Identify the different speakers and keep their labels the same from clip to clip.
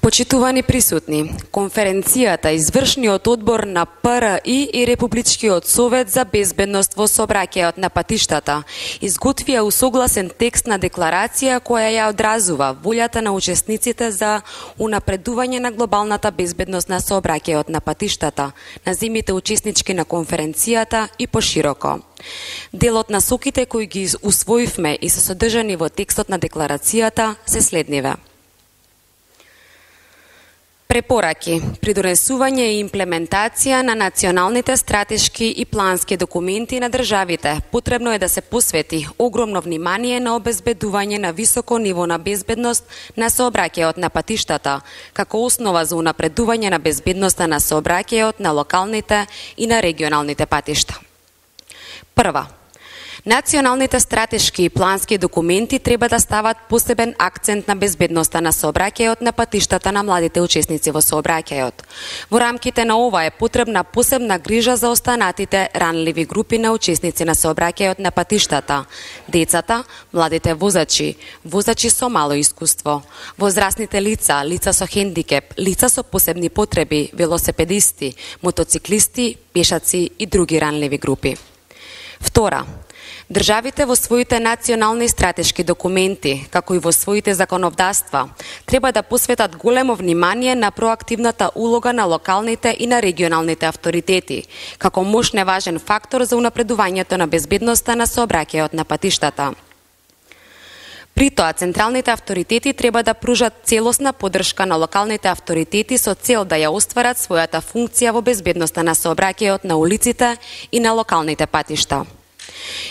Speaker 1: Почитувани присутни, конференцијата Извршниот одбор на ПРИ и Републичкиот совет за безбедност во сообраќајот на патиштата изготвија усогласен текст на декларација која ја одразува волјата на учесниците за унапредување на глобалната безбедност на сообраќајот на патиштата, на земјите учеснички на конференцијата и пошироко. Дел од насоките кои ги усвоивме и се содржани во текстот на декларацијата се следниве. Препораки, придонесување и имплементација на националните стратешки и плански документи на државите. Потребно е да се посвети огромно внимание на обезбедување на високо ниво на безбедност на сообраќајот на патиштата, како основа за унапредување на безбедноста на сообраќајот на локалните и на регионалните патишта. Прва, националните стратешки и плански документи треба да стават посебен акцент на безбедноста на сообраќајот на патиштата на младите учесници во сообраќајот. Во рамките на ова е потребна посебна грижа за останатите ранливи групи на учесници на сообраќајот на патиштата: децата, младите возачи, возачи со мало искуство, возрастните лица, лица со хендикеп, лица со посебни потреби, велосипедисти, мотоциклисти, пешаци и други ранливи групи. Втора, државите во своите национални стратешки документи, како и во своите законодавства, треба да посветат големо внимание на проактивната улога на локалните и на регионалните авторитети, како мощен важен фактор за унапредувањето на безбедноста на сообраќајот на патиштата. При тоа, централните авторитети треба да пружат целосна поддршка на локалните авторитети со цел да ја остварат својата функција во безбедноста на сообраќајот на улиците и на локалните патишта.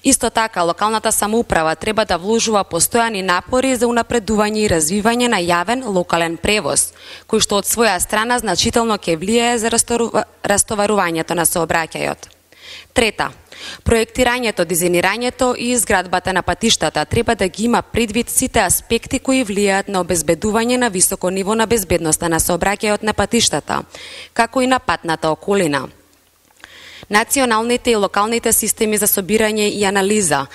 Speaker 1: Исто така, локалната самоуправа треба да вложува постојани напори за унапредување и развивање на јавен локален превоз, кој што од своја страна значително ќе влијае за растоварувањето на сообраќајот. Трета, проектирањето, дизајнирањето и изградбата на патиштата треба да ги има предвид сите аспекти кои влијаат на обезбедување на високо ниво на безбедноста на сообраќајот на патиштата, како и на патната околина. Националните и локалните системи за собирање и анализа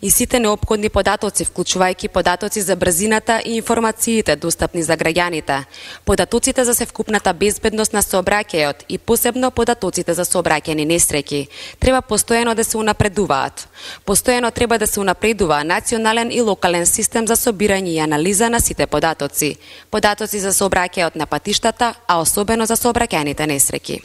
Speaker 1: и сите неопходни податоци, вклучувајќи податоци за брзината и информациите достапни за граѓаните, податоците за севкупната безбедност на сообраќајот и посебно податоците за сообраќајни несреќи, треба постојано да се унапредуваат. Постојано треба да се унапредува национален и локален систем за собирање и анализа на сите податоци, податоци за сообраќајот на патиштата, а особено за сообраќајните несреќи.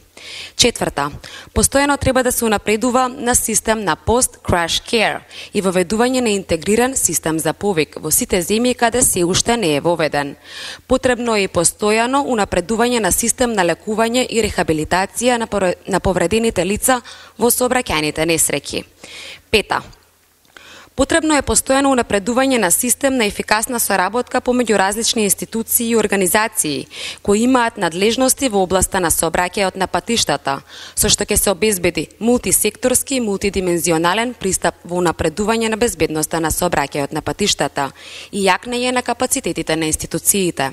Speaker 1: Четврта, постојано треба да се унапредува на систем на post-crash care и воведување на интегриран систем за повик во сите земји каде се уште не е воведен. Потребно е и постојано унапредување на систем на лекување и рехабилитација на повредените лица во сообраќајните несреќи. Пета, потребно е постојано унапредување на систем на ефикасна соработка помеѓу различни институции и организации кои имаат надлежности во областа на сообраќајот на патиштата, со што ќе се обезбеди мултисекторски и мултидимензионален пристап во унапредување на безбедноста на сообраќајот на патиштата и јакнење на капацитетите на институциите.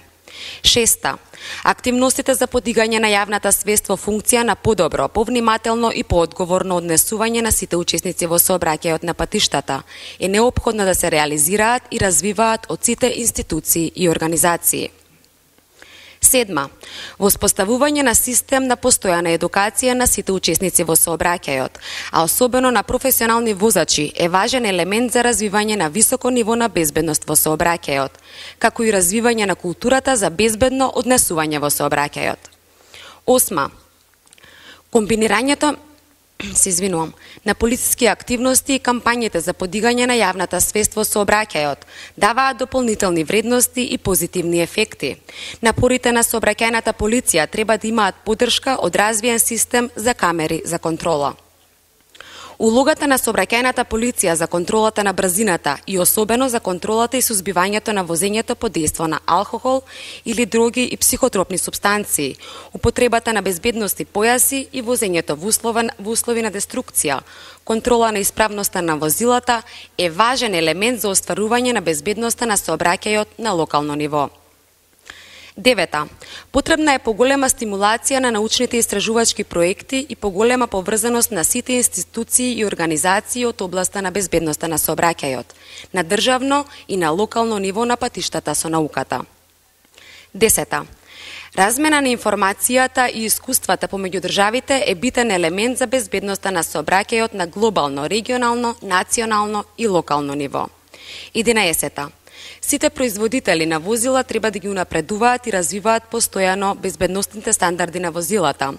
Speaker 1: Шеста, активностите за подигање на јавната свест во функција на подобро, повнимателно и поодговорно однесување на сите учесници во сообраќајот на патиштата е неопходно да се реализираат и развиваат од сите институции и организации. Седма, воспоставување на систем на постојана едукација на сите учесници во сообраќајот, а особено на професионални возачи, е важен елемент за развивање на високо ниво на безбедност во сообраќајот, како и развивање на културата за безбедно однесување во сообраќајот. Осма, комбинирањето на полициски активности и кампањите за подигање на јавната свест во сообраќајот даваат дополнителни вредности и позитивни ефекти. Напорите на сообраќајната полиција треба да имаат поддршка од развиен систем за камери за контрола. Улогата на сообраќајната полиција за контролата на брзината и особено за контролата и сузбивањето на возењето под дејство на алкохол или други и психотропни супстанции, употребата на безбедности појаси и возењето во услови на деструкција, контрола на исправноста на возилата е важен елемент за остварување на безбедноста на сообраќајот на локално ниво. 9. Потребна е поголема стимулација на научните истражувачки проекти и поголема поврзаност на сите институции и организации од областа на безбедноста на сообраќајот, на државно и на локално ниво на патиштата со науката. 10. Размена на информацијата и искуствата помеѓу државите е битен елемент за безбедноста на сообраќајот на глобално, регионално, национално и локално ниво. 11. Сите производители на возила треба да ги унапредуваат и развиваат постојано безбедностните стандарди на возилата.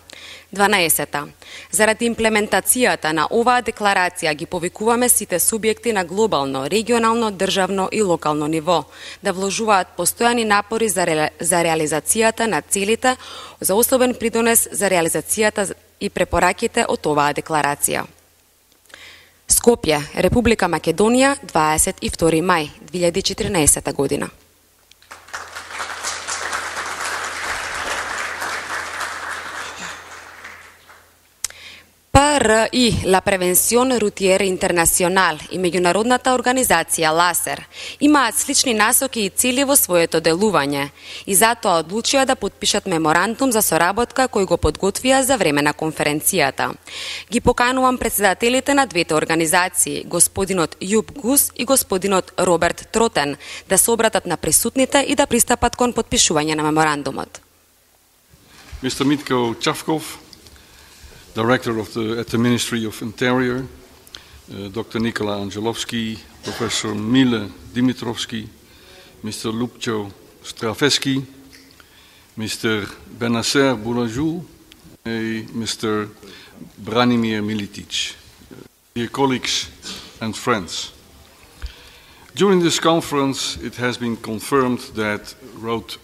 Speaker 1: 12. Заради имплементацијата на оваа декларација ги повикуваме сите субјекти на глобално, регионално, државно и локално ниво да вложуваат постојани напори за реализацијата на целите, за особен придонес за реализацијата и препораките од оваа декларација. Скопје, Република Македонија, 22 мај 2014 година. ПРИ, La Prevención Routiera Internacional и меѓународната организација ЛАСЕР имаат слични насоки и цели во своето делување и затоа одлучија да подпишат меморандум за соработка кој го подготвија за време на конференцијата. Ги поканувам председателите на двете организации, господинот Јуб Гус и господинот Роберт Тротен, да се обратат на присутните и да пристапат кон подпишување на меморандумот.
Speaker 2: Mr. Mitko Chavkov, Director at the Ministry of Interior, Dr. Nikola Angelovski, Professor Mile Dimitrovski, Mr. Lupcho Straveski, Mr. Benasser Boulajou, and Mr. Branimir Militic. Dear colleagues and friends, during this conference it has been confirmed that road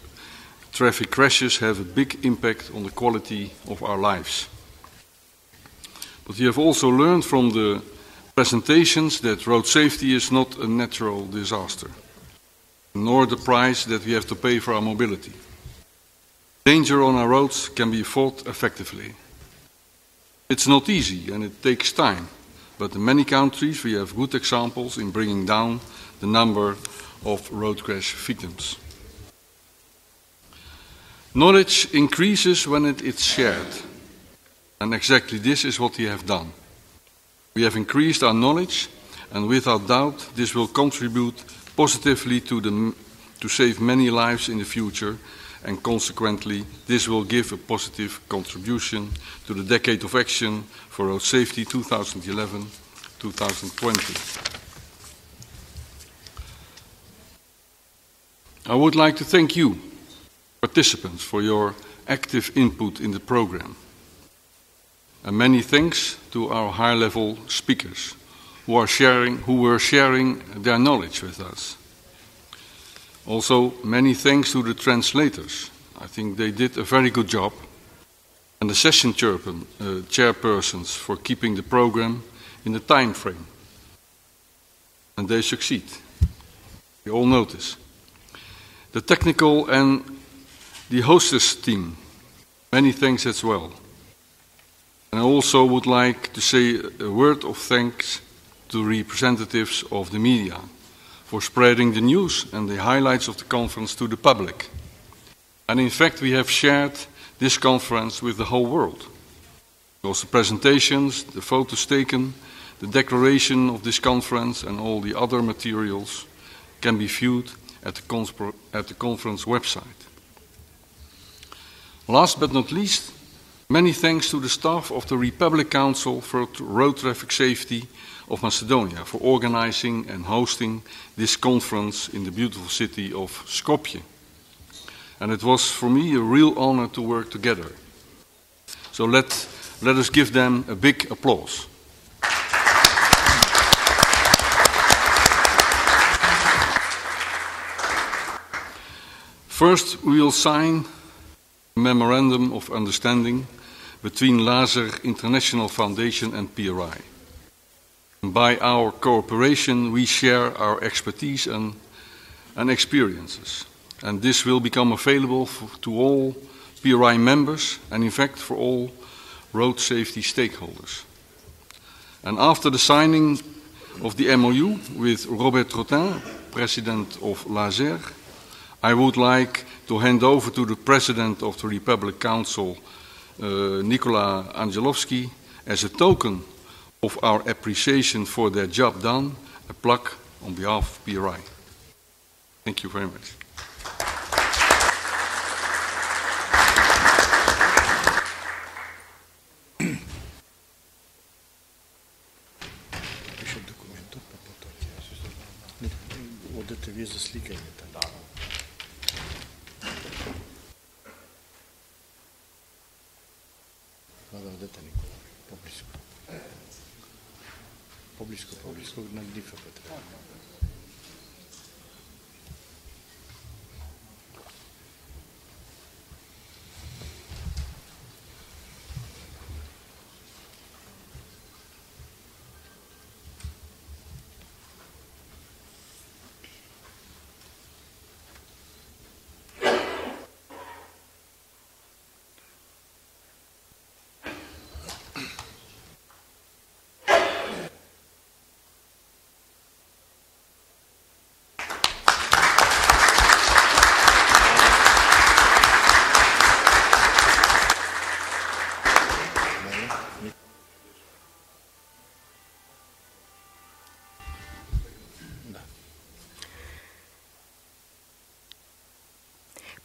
Speaker 2: traffic crashes have a big impact on the quality of our lives. But we have also learned from the presentations that road safety is not a natural disaster, nor the price that we have to pay for our mobility. Danger on our roads can be fought effectively. It's not easy and it takes time, but in many countries we have good examples in bringing down the number of road crash victims. Knowledge increases when it is shared. And exactly this is what we have done. We have increased our knowledge, and without doubt this will contribute positively to save many lives in the future, and consequently this will give a positive contribution to the Decade of Action for Road Safety 2011-2020. I would like to thank you, participants, for your active input in the program. And many thanks to our high-level speakers who were sharing their knowledge with us. Also, many thanks to the translators. I think they did a very good job. And the session chairpersons for keeping the program in the time frame. And they succeed. We all know this. The technical and the hostess team, many thanks as well. And I also would like to say a word of thanks to representatives of the media for spreading the news and the highlights of the conference to the public. And in fact, we have shared this conference with the whole world. Because the presentations, the photos taken, the declaration of this conference and all the other materials can be viewed at the conference website. Last but not least, many thanks to the staff of the Republic Council for Road Traffic Safety of Macedonia for organizing and hosting this conference in the beautiful city of Skopje. And it was for me a real honor to work together. So let us give them a big applause. First, we will sign a memorandum of understanding between LASER International Foundation and PRI. By our cooperation, we share our expertise and experiences. And this will become available to all PRI members and, in fact, for all road safety stakeholders. And after the signing of the MOU with Robert Trottin, President of l'ASER, I would like to hand over to the President of the Republic Council, Nicola Angelovski, as a token of our appreciation for their job done, a plaque on behalf of PRI. Thank you very much.
Speaker 3: Одете вие за сликањето. Да, одете Никола, поблиску. Поблиску на дифа Петре.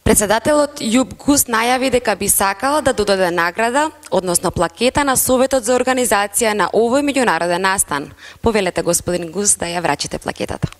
Speaker 1: Председателот Јуб Гус најави дека би сакал да додаде награда, односно плакета на Советот за организација на овој меѓународен настан. Повелете господин Гус да ја врачите плакетата.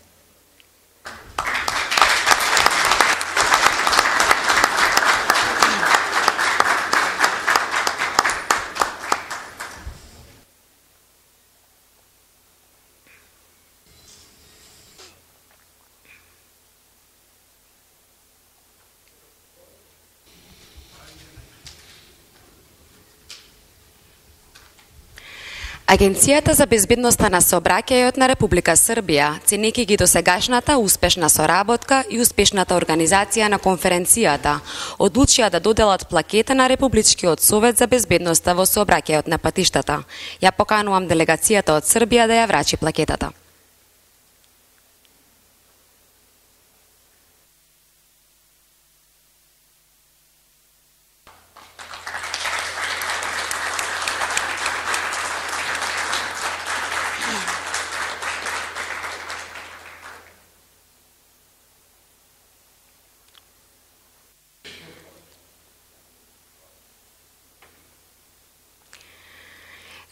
Speaker 1: Агенцијата за безбедноста на сообраќајот на Република Србија, ценејќи ги досегашната успешна соработка и успешната организација на конференцијата, одлучија да доделат плакета на Републичкиот совет за безбедноста во сообраќајот на патиштата. Ја поканувам делегацијата од Србија да ја врачи плакетата.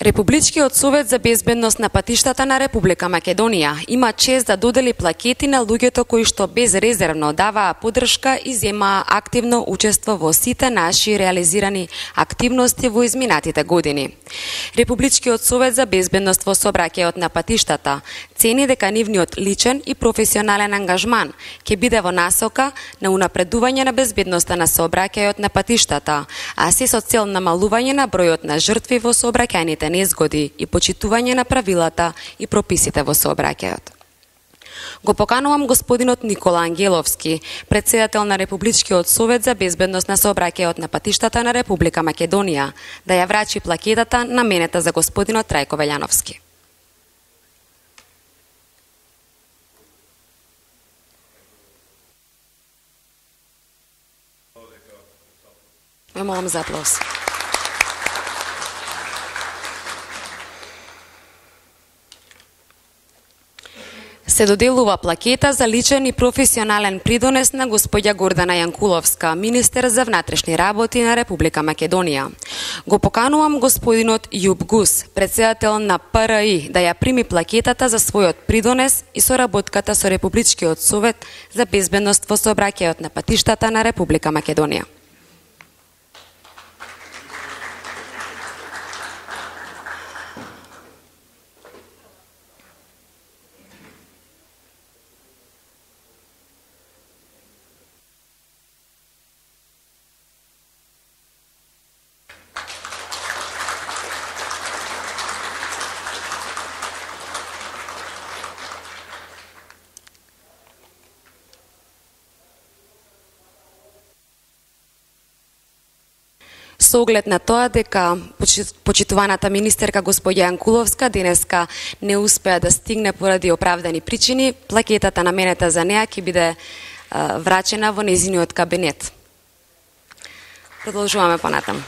Speaker 1: Републичкиот совет за безбедност на патиштата на Република Македонија има чест да додели плакети на луѓето кои што безрезервно даваа поддршка и земаа активно учество во сите наши реализирани активности во изминатите години. Републичкиот совет за безбедност во сообраќајот на патиштата цени дека нивниот личен и професионален ангажман ќе биде во насока на унапредување на безбедноста на сообраќајот на патиштата, а се со цел намалување на бројот на жртви во сообраќајните незгоди и почитување на правилата и прописите во сообраќајот. Го поканувам господинот Никола Ангеловски, председател на Републичкиот совет за безбедност на сообраќајот на патиштата на Република Македонија, да ја врачи плакетата наменета за господинот Трајко Велјановски. Ве молам за аплауз. Се доделува плакета за личен и професионален придонес на господја Гордана Јанкуловска, министер за внатрешни работи на Република Македонија. Го поканувам господинот Јуб Гус, председател на ПРИ, да ја прими плакетата за својот придонес и соработката со Републичкиот совет за безбедност во сообраќајот на патиштата на Република Македонија. Со оглед на тоа дека почитуваната министерка господја Јанкуловска денеска не успеа да стигне поради оправдани причини, плакетата наменета за неа ќе биде врачена во нејзиниот кабинет. Продолжуваме понатаму.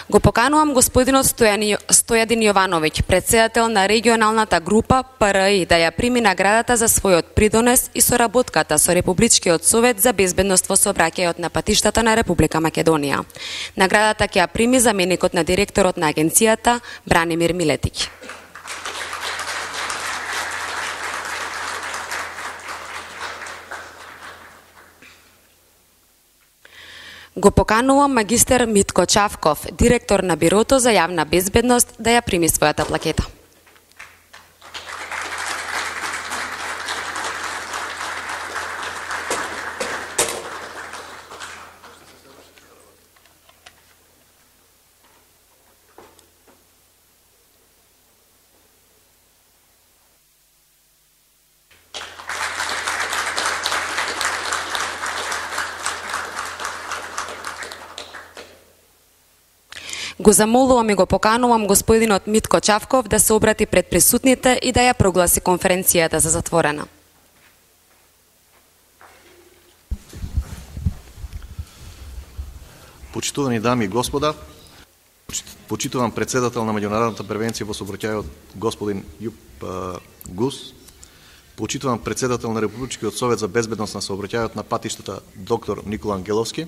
Speaker 1: Го поканувам господинот Стојадин Јовановиќ, председател на регионалната група ПРИ, да ја прими наградата за својот придонес и соработката со Републичкиот совет за безбедност во сообраќајот на патиштата на Република Македонија. Наградата ќе ја прими заменикот на директорот на агенцијата Бранимир Милетиќ. Го поканувам магистер Митко Чавков, директор на Бирото за јавна безбедност, да ја прими својата плакета. Го замолувам и го поканувам господинот Митко Чавков да се обрати пред присутните и да ја прогласи конференцијата за затворена.
Speaker 4: Почитувани дами и господа, почитувам председател на меѓународната превенција во сообраќајот господин Јуп Гус, почитувам председател на Републичкиот совет за безбедност на сообраќајот на патиштата доктор Никола Ангеловски,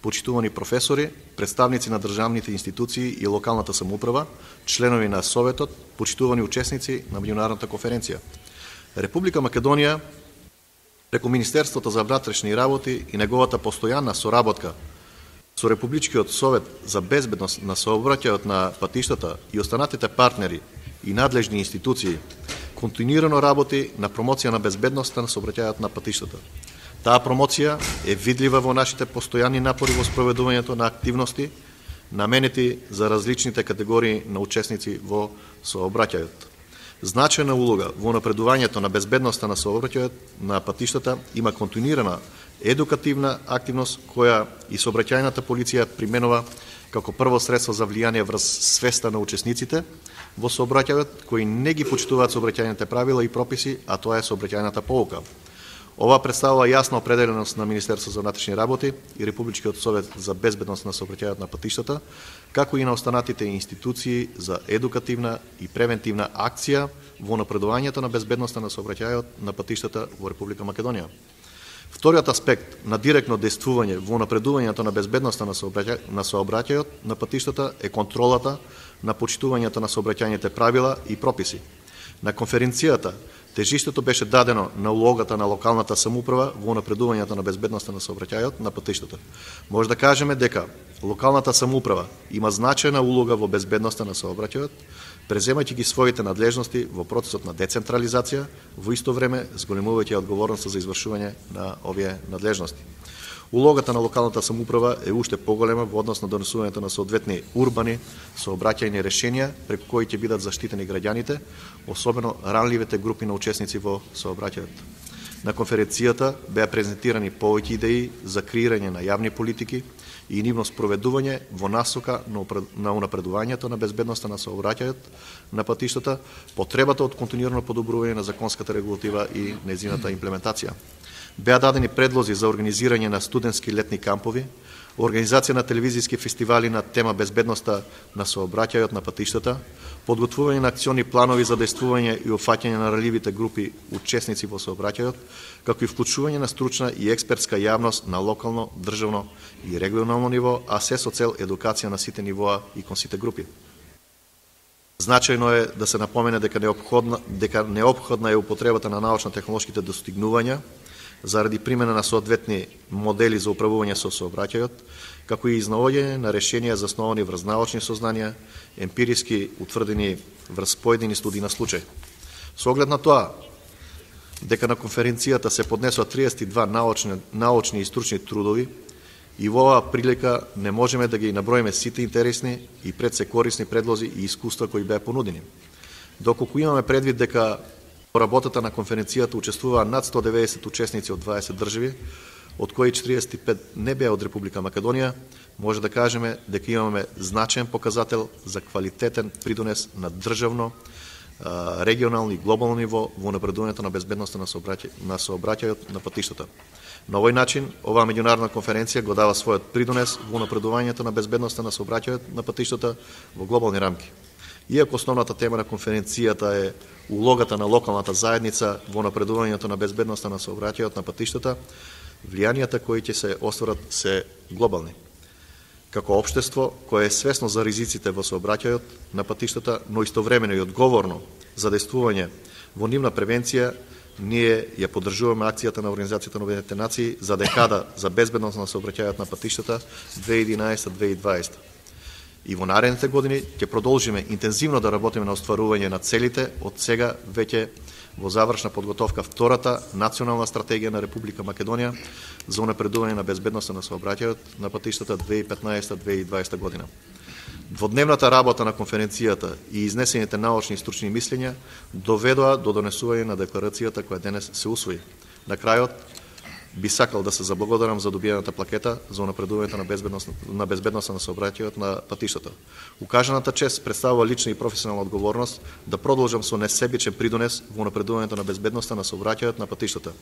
Speaker 4: почитувани професори, представници на државните институции и локалната самоуправа, членови на Советот, почитувани учесници на меѓународната конференција. Република Македонија, преку Министерството за внатрешни работи и неговата постојанна соработка со Републичкиот совет за безбедност на сообраќајот на патиштата и останатите партнери и надлежни институции, континуирано работи на промоција на безбедноста на сообраќајот на патиштата. Таа промоција е видлива во нашите постојани напори во спроведувањето на активности наменети за различните категории на учесници во сообраќајот. Значајна улога во напредувањето на безбедноста на сообраќајот на патиштата има континуирана едукативна активност која и сообраќајната полиција применува како прво средство за влијание врз свеста на учесниците во сообраќајот кои не ги почитуваат сообраќајните правила и прописи, а тоа е сообраќајната поука. Ова представува јасна определеност на Министерството за внатрешни работи и Републичкиот совет за безбедност на сообраќајот на патиштата, како и на останатите институции за едукативна и превентивна акција во напредувањето на безбедноста на сообраќајот на патиштата во Република Македонија. Вториот аспект на директно действување во напредувањето на безбедноста на сообраќајот на патиштата е контролата на почитувањето на сообраќајните правила и прописи. На конференцијата тежиштето беше дадено на улогата на локалната самоуправа во напредувањето на безбедноста на сообраќајот на патиштата. Може да кажеме дека локалната самоуправа има значајна улога во безбедноста на сообраќајот, преземајќи ги своите надлежности во процесот на децентрализација, во исто време зголемувајќи одговорноста за извршување на овие надлежности. Улогата на локалната самоуправа е уште поголема во однос на донесувањето на соодветни урбани сообраќајни решенија преку кои ќе бидат заштитени граѓаните, особено ранливите групи на учесници во сообраќајот. На конференцијата беа презентирани повеќе идеи за креирање на јавни политики и нивно спроведување во насока на унапредувањето на безбедноста на сообраќајот на патиштата, потребата од континуирано подобрување на законската регулатива и нејзината имплементација. Беа дадени предлози за организирање на студентски летни кампови, организација на телевизиски фестивали на тема безбедноста на сообраќајот на патиштата, подготвување на акциони планови за действување и опфаќање на ранливите групи учесници во сообраќајот, како и вклучување на стручна и експертска јавност на локално, државно и регионално ниво, а се со цел едукација на сите нивоа и кон сите групи. Значајно е да се напомене дека неопходна е употребата на научно-технолошките достигнувања заради примена на соодветни модели за управување со сообраќајот, како и изнаоѓање на решенија засновани врз научни сознанија, емпириски утврдени врз поедини студии на случај. Со оглед на тоа, дека на конференцијата се поднесоа 32 научни и стручни трудови, и во оваа прилика не можеме да ги наброиме сите интересни и пред се корисни предлози и искуства кои беа понудени. Доколку имаме предвид дека во работата на конференцијата учествуваа над 190 учесници од 20 држави, од кои 45 не беа од Република Македонија, може да кажеме дека имаме значаен показател за квалитетен придонес на државно, регионално и глобално ниво во напредувањето на безбедноста на сообраќајот на патиштата. На овој начин, оваа меѓународна конференција го дава својот придонес во напредувањето на безбедноста на сообраќајот на патиштата во глобални рамки. Иако основната тема на конференцијата е улогата на локалната заедница во напредувањето на безбедноста на сообраќајот на патиштата, влијанијата кои ќе се остварат се глобални. Како општество кое е свесно за ризиците во сообраќајот на патиштата, но истовремено и одговорно за действување во нивна превенција, ние ја поддржуваме акцијата на Организацијата на Обединетите нации за декада за безбедност на сообраќајот на патиштата 2011-2020. И во наредните години ќе продолжиме интензивно да работиме на остварување на целите од сега веќе во завршна подготовка втората национална стратегија на Република Македонија за унапредување на безбедноста на сообраќајот на патиштата 2015-2020 година. Дводневната работа на конференцијата и изнесените научни и стручни мислења доведоа до донесување на декларацијата која денес се усвои. На крајот, би сакал да се заблагодарам за добиената плакета за унапредувањето на безбедноста на сообраќајот на патиштата. Укажаната чест представува лична и професионална одговорност да продолжам со несебичен придонес во унапредувањето на безбедноста на сообраќајот на патиштата.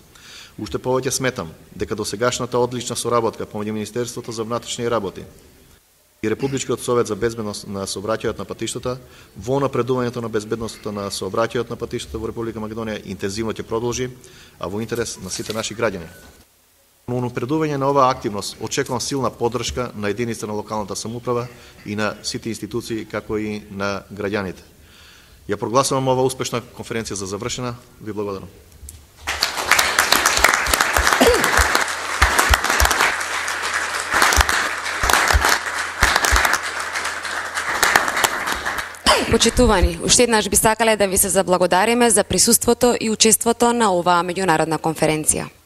Speaker 4: Уште повеќе сметам дека досегашната одлична соработка помеѓу Министерството за внатрешни работи и Републичкиот совет за безбедност на сообраќајот на патиштата во напредувањето на безбедноста на сообраќајот на патиштата во Република Македонија интензивно ќе продолжи, а во интерес на сите наши граѓани. Но напредување на оваа активност очекувам силна поддршка на единиците на локалната самоуправа и на сите институции, како и на граѓаните. Ја прогласувам ова успешна конференција за завршена. Ви благодарам.
Speaker 1: Почитувани, уште еднаш би сакале да ви се заблагодариме за присуството и учеството на оваа меѓународна конференција.